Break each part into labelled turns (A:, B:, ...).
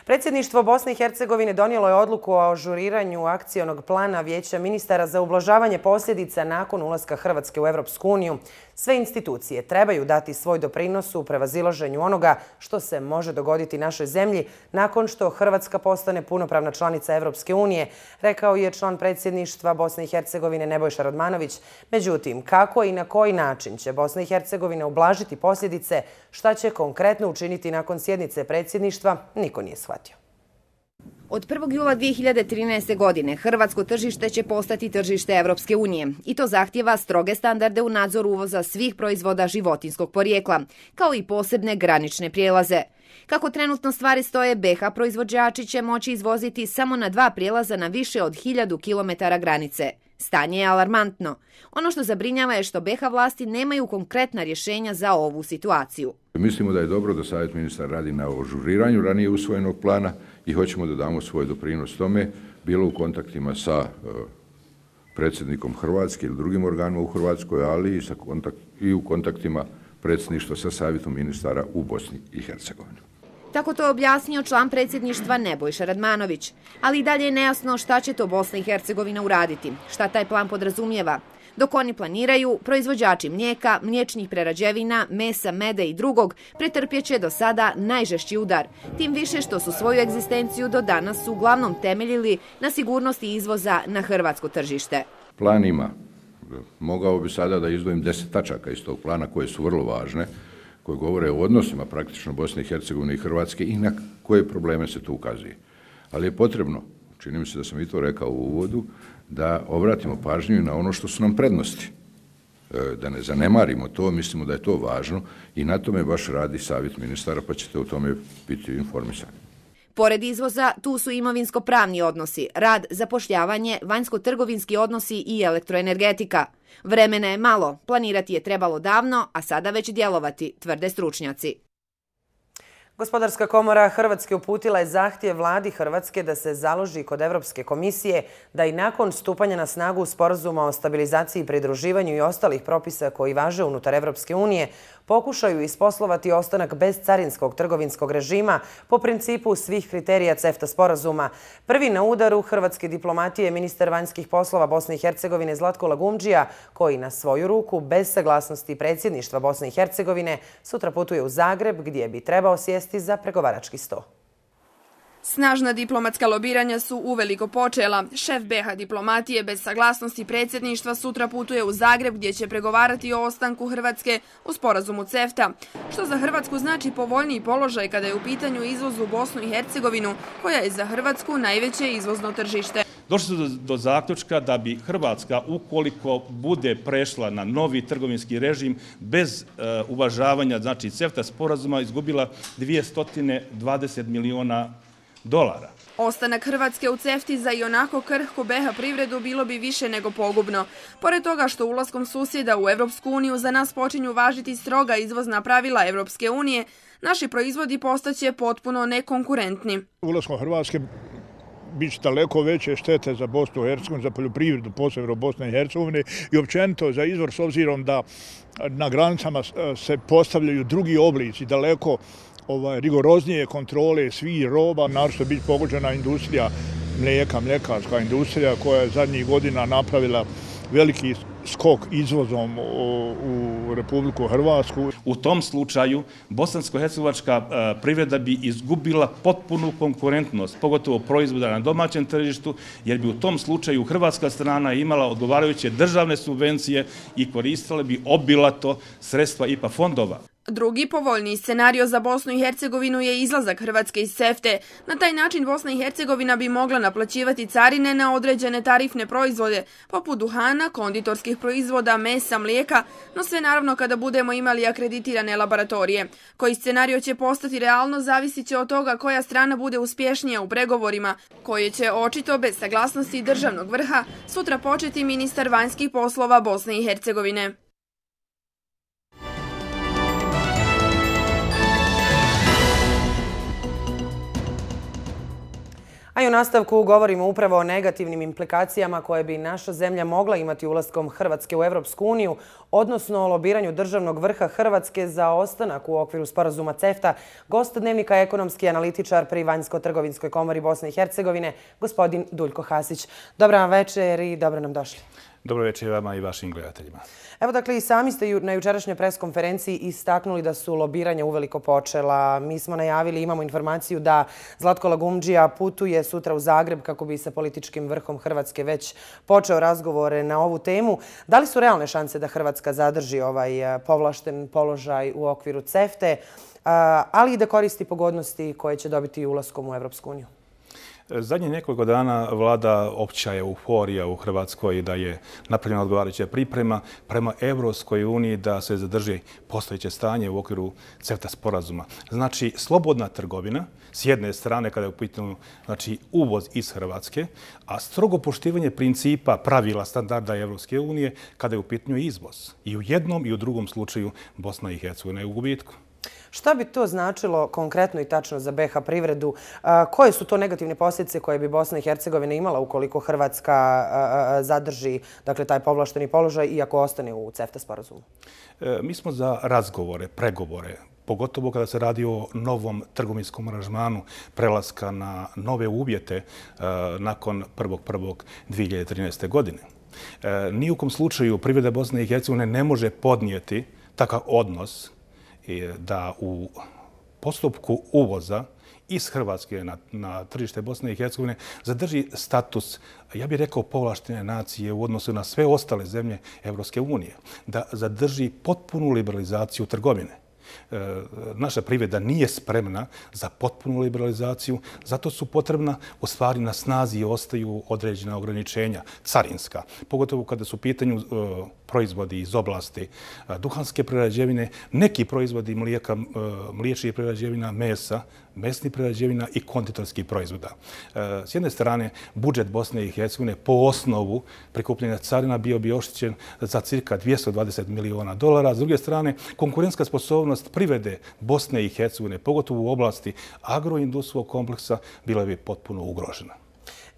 A: Predsjedništvo Bosne i Hercegovine donijelo je odluku o ažuriranju akcionog plana Vijeća ministara za ublažavanje posljedica nakon ulaska Hrvatske u Europsku uniju. Sve institucije trebaju dati svoj doprinos u prevazilaženju onoga što se može dogoditi našoj zemlji nakon što Hrvatska postane punopravna članica Europske unije, rekao je član predsjedništva Bosne i Hercegovine Nebojša Radmanović. Međutim, kako i na koji način će Bosna i Hercegovina ublažiti posljedice, šta će konkretno učiniti nakon sjednice predsjedništva, niko nije shvatio.
B: Od 1. jula 2013. godine hrvatsko tržište će postati tržište Evropske unije i to zahtjeva stroge standarde u nadzoru uvoza svih proizvoda životinjskog porijekla, kao i posebne granične prijelaze. Kako trenutno stvari stoje, BiH proizvođači će moći izvoziti samo na 2 prijelaza na više od 1000 km granice. Stanje je alarmantno. Ono što zabrinjava je što BiH vlasti nemaju konkretna rješenja za ovu situaciju.
C: Mislimo da je dobro da Savjet ministara radi na ažuriranju ranije usvojenog plana i hoćemo da damo svoj doprinos tome, bilo u kontaktima sa predsjednikom Hrvatske ili drugim organima u Hrvatskoj, ali i u kontaktima predsjedništva sa Savjetom ministara u Bosni i Hercegovini.
B: Tako to je objasnio član predsjedništva Nebojša Radmanović. Ali i dalje je nejasno šta će to Bosna i Hercegovina uraditi, šta taj plan podrazumijeva. Dok oni planiraju, proizvođači mlijeka, mliječnih prerađevina, mesa, meda i drugog pretrpjeće do sada najžešći udar. Tim više što su svoju egzistenciju do danas uglavnom temeljili na sigurnosti izvoza na hrvatsko tržište.
C: Plan ima. Mogao bi sada da izdvojim 10 tačaka iz tog plana koje su vrlo važne, koje govore o odnosima praktično Bosne i Hercegovine i Hrvatske i na koje probleme se tu ukazuje. Ali je potrebno, čini mi se da sam i to rekao u uvodu, da obratimo pažnju na ono što su nam prednosti. Da ne zanemarimo to, mislimo da je to važno i na tome baš radi Savjet ministara, pa ćete o tome biti informisani.
B: Pored izvoza, tu su imovinsko-pravni odnosi, rad, zapošljavanje, vanjsko-trgovinski odnosi i elektroenergetika. Vremena je malo, planirati je trebalo davno, a sada već djelovati, tvrde stručnjaci.
A: Gospodarska komora Hrvatske uputila je zahtjev vladi Hrvatske da se založi kod Europske komisije da i nakon stupanja na snagu Sporazuma o stabilizaciji i pridruživanju i ostalih propisa koji važe unutar Europske unije pokušaju isposlovati ostanak bez carinskog trgovinskog režima po principu svih kriterija CEFTA sporazuma. Prvi na udaru hrvatske diplomatije je ministar vanjskih poslova Bosne i Hercegovine Zlatko Lagumdžija, koji na svoju ruku, bez saglasnosti predsjedništva Bosne i Hercegovine, sutra putuje u Zagreb gdje bi trebao sjesti za pregovarački sto.
D: Snažna diplomatska lobiranja su uveliko počela. Šef BiH diplomatije bez saglasnosti predsjedništva sutra putuje u Zagreb gdje će pregovarati o ostanku Hrvatske u sporazumu CEFTA, što za Hrvatsku znači povoljniji položaj kada je u pitanju izvoz u Bosnu i Hercegovinu, koja je za Hrvatsku najveće izvozno tržište.
E: Došli su do zaključka da bi Hrvatska, ukoliko bude prešla na novi trgovinski režim bez uvažavanja CEFTA sporazuma, izgubila 220 miliona dolara.
D: Ostanak Hrvatske u CEFTA za ionako krhku BiH privredu bilo bi više nego pogubno. Pored toga što ulaskom susjeda u Europsku uniju za nas počinju važiti stroga izvozna pravila Europske unije, naši proizvodi postaće potpuno nekonkurentni.
F: Ulaskom Hrvatske bit će daleko veće štete za Bosnu i Hercegovinu, za poljoprivredu, posebno Bosne i Hercegovine i općenito za izvoz, s obzirom da na granicama se postavljaju drugi oblici, daleko rigoroznije kontrole svih roba, naročito biti pogođena industrija mlijeka, mljekarska industrija koja je zadnjih godina napravila veliki skok izvozom u Republiku Hrvatsku.
E: U tom slučaju bosansko-hercegovačka privreda bi izgubila potpunu konkurentnost, pogotovo proizvoda na domaćem tržištu, jer bi u tom slučaju hrvatska strana imala odgovarajuće državne subvencije i koristila bi obilato sredstva IPA fondova.
D: Drugi povoljniji scenario za Bosnu i Hercegovinu je izlazak Hrvatske iz CEFTA. Na taj način Bosna i Hercegovina bi mogla naplaćivati carine na određene tarifne proizvode, poput duhana, konditorskih proizvoda, mesa, mlijeka, no sve naravno kada budemo imali akreditirane laboratorije. Koji scenario će postati realno zavisit će od toga koja strana bude uspješnija u pregovorima, koje će očito bez saglasnosti državnog vrha sutra početi ministar vanjskih poslova Bosne i Hercegovine.
A: A i u nastavku govorimo upravo o negativnim implikacijama koje bi naša zemlja mogla imati ulaskom Hrvatske u Evropsku uniju, odnosno o lobiranju državnog vrha Hrvatske za ostanak u okviru sporazuma CEFTA. Gost Dnevnika je ekonomski analitičar pri Vanjsko-trgovinskoj komori Bosne i Hercegovine, gospodin Duljko Hasić. Dobra vam večer i dobro nam došli.
E: Dobro večer vama i vašim gledateljima.
A: Evo dakle i sami ste na jučerašnjoj preskonferenciji istaknuli da su lobiranja uveliko počela. Mi smo najavili, imamo informaciju da Zlatko Lagumdžija putuje sutra u Zagreb kako bi sa političkim vrhom Hrvatske već počeo razgovore na ovu temu. Da li su realne šanse da Hrvatska zadrži ovaj povlašten položaj u okviru CEFTA-e, ali i da koristi pogodnosti koje će dobiti ulaskom u Evropsku uniju?
E: Zadnjih nekoliko dana vlada opća euforija u Hrvatskoj da je napravljena odgovarajuća priprema prema Evropskoj uniji da se zadrži postojeće stanje u okviru CEFTA sporazuma. Znači, slobodna trgovina s jedne strane kada je u pitanju uvoz iz Hrvatske, a strogo poštivanje principa, pravila, standarda Evropske unije kada je u pitanju izvoz. I u jednom i u drugom slučaju Bosna i Hercegovina je u gubitku.
A: Šta bi to značilo konkretno i tačno za BiH privredu? Koje su to negativne posljedice koje bi Bosna i Hercegovina imala ukoliko Hrvatska zadrži taj povlašteni položaj i ako ostane u CEFTA sporazumu?
E: Mi smo za razgovore, pregovore, pogotovo kada se radi o novom trgovinskom aranžmanu prelaska na nove uvjete nakon 1.1.2013. godine. Nijukom slučaju privreda Bosne i Hercegovine ne može podnijeti takav odnos da u postupku uvoza iz Hrvatske na tržište Bosne i Hercegovine zadrži status, ja bih rekao, povlaštene nacije u odnosu na sve ostale zemlje Evropske unije, da zadrži potpunu liberalizaciju trgovine. Naša privreda nije spremna za potpunu liberalizaciju, zato su potrebna, u stvari na snazi ostaju određena ograničenja carinska, pogotovo kada su u pitanju proizvodi iz oblasti duhanske prerađevine, neki proizvodi mlijeka, mliječnih prerađevina, mesa, mesnih prerađevina i konditorskih proizvoda. S jedne strane, budžet Bosne i Hercegovine po osnovu prikupljanja carina bio bi oštećen za cirka $220 miliona. S druge strane, konkurentska sposobnost privrede Bosne i Hercegovine, pogotovo u oblasti agroindustrijskog kompleksa, bila bi potpuno ugrožena.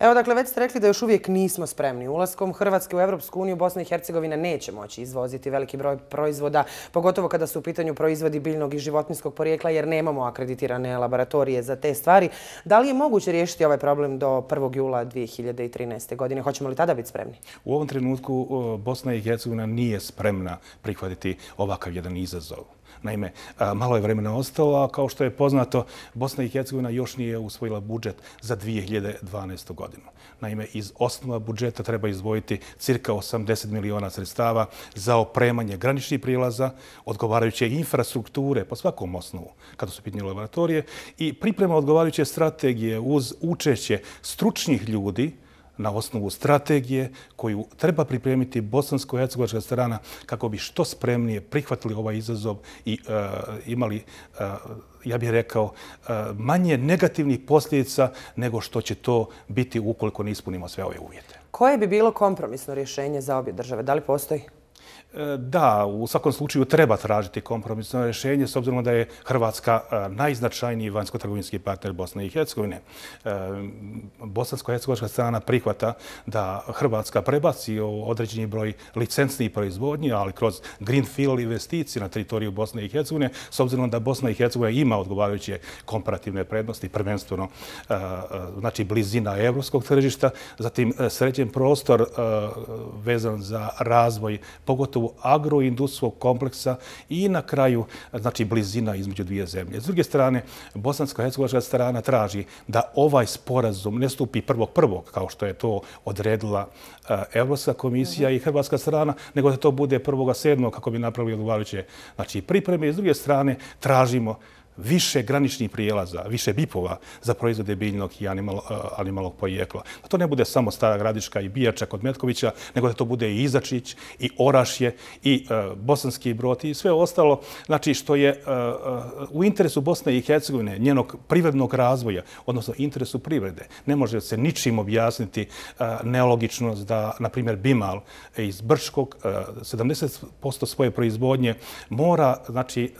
A: Evo, dakle, već ste rekli da još uvijek nismo spremni. Ulaskom Hrvatske u Evropsku uniju Bosna i Hercegovina neće moći izvoziti veliki broj proizvoda, pogotovo kada su u pitanju proizvodi biljnog i životinjskog porijekla, jer nemamo akreditirane laboratorije za te stvari. Da li je moguće riješiti ovaj problem do 1. jula 2013. godine? Hoćemo li tada biti spremni?
E: U ovom trenutku Bosna i Hercegovina nije spremna prihvatiti ovakav jedan izazov. Naime, malo je vremena ostalo, a kao što je poznato, Bosna i Hercegovina još nije usvojila budžet za 2012. godinu. Naime, iz osnova budžeta treba izdvojiti cirka 80 miliona sredstava za opremanje graničnih prijelaza, odgovarajuće infrastrukture po svakom osnovu, kada su pitanje laboratorije, i priprema odgovarajuće strategije uz učešće stručnih ljudi na osnovu strategije koju treba pripremiti bosansko-hercegovačka strana kako bi što spremnije prihvatili ovaj izazov i imali, ja bih rekao, manje negativnih posljedica nego što će to biti ukoliko ne ispunimo sve ove uvjete.
A: Koje bi bilo kompromisno rješenje za obje države? Da li postoji?
E: Da, u svakom slučaju treba tražiti kompromisno rješenje s obzirom da je Hrvatska najznačajniji vanjsko-trgovinski partner Bosne i Hercegovine. Bosansko-hercegovačka strana prihvata da Hrvatska prebaci određeni broj licencnih proizvodnji, ali kroz greenfield investicije na teritoriju Bosne i Hercegovine, s obzirom da Bosna i Hercegovina ima odgovarajuće komparativne prednosti, prvenstveno znači blizina evropskog tržišta, zatim sređen prostor vezan za razvoj, pogotovo agroindustrijskog kompleksa i na kraju, znači, blizina između dvije zemlje. S druge strane, bosansko-hercegovačka strana traži da ovaj sporazum ne stupi 1.1. kao što je to odredila Evropska komisija i hrvatska strana, nego da to bude 1.7. kako bi napravili odgovarajuće pripreme. I s druge strane, tražimo više graničnih prijelaza, više BIP-ova za proizvode biljnog i animalnog porijekla. Da to ne bude samo Stara Gradiška i Bijača kod Metkovića, nego da to bude i Izačić, i Orašje, i Bosanski Brod i sve ostalo, znači što je u interesu Bosne i Hercegovine, njenog privrednog razvoja, odnosno interesu privrede. Ne može se ničim objasniti nelogičnost da, na primjer, Bimal iz Brčkog 70% svoje proizvodnje mora, znači,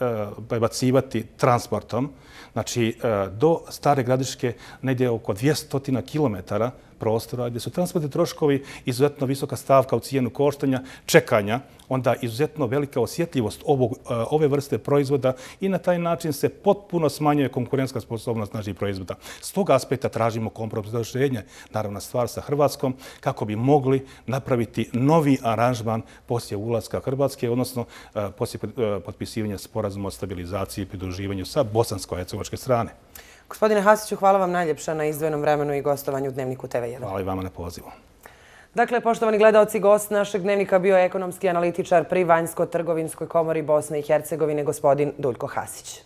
E: prebacivati transport transportom, znači do Stare Gradiške negdje oko 200 kilometara prostora, gdje su transportni troškovi izuzetno visoka stavka u cijenu koštanja, čekanja, onda izuzetno velika osjetljivost ove vrste proizvoda i na taj način se potpuno smanjuje konkurentska sposobnost naših proizvoda. S tog aspekta tražimo kompromisno rješenje, naravno stvar sa Hrvatskom, kako bi mogli napraviti novi aranžman poslije ulaska Hrvatske, odnosno poslije potpisivanja sporazuma o stabilizaciji i pridruživanju sa bosansko-hercegovačke strane.
A: Gospodine Hasiću, hvala vam najljepša na izdvojenom vremenu i gostovanju u Dnevniku TV1.
E: Hvala i vama na pozivu.
A: Dakle, poštovani gledaoci, gost našeg Dnevnika bio je ekonomski analitičar pri Vanjsko-trgovinskoj komori Bosne i Hercegovine, gospodin Duljko Hasić.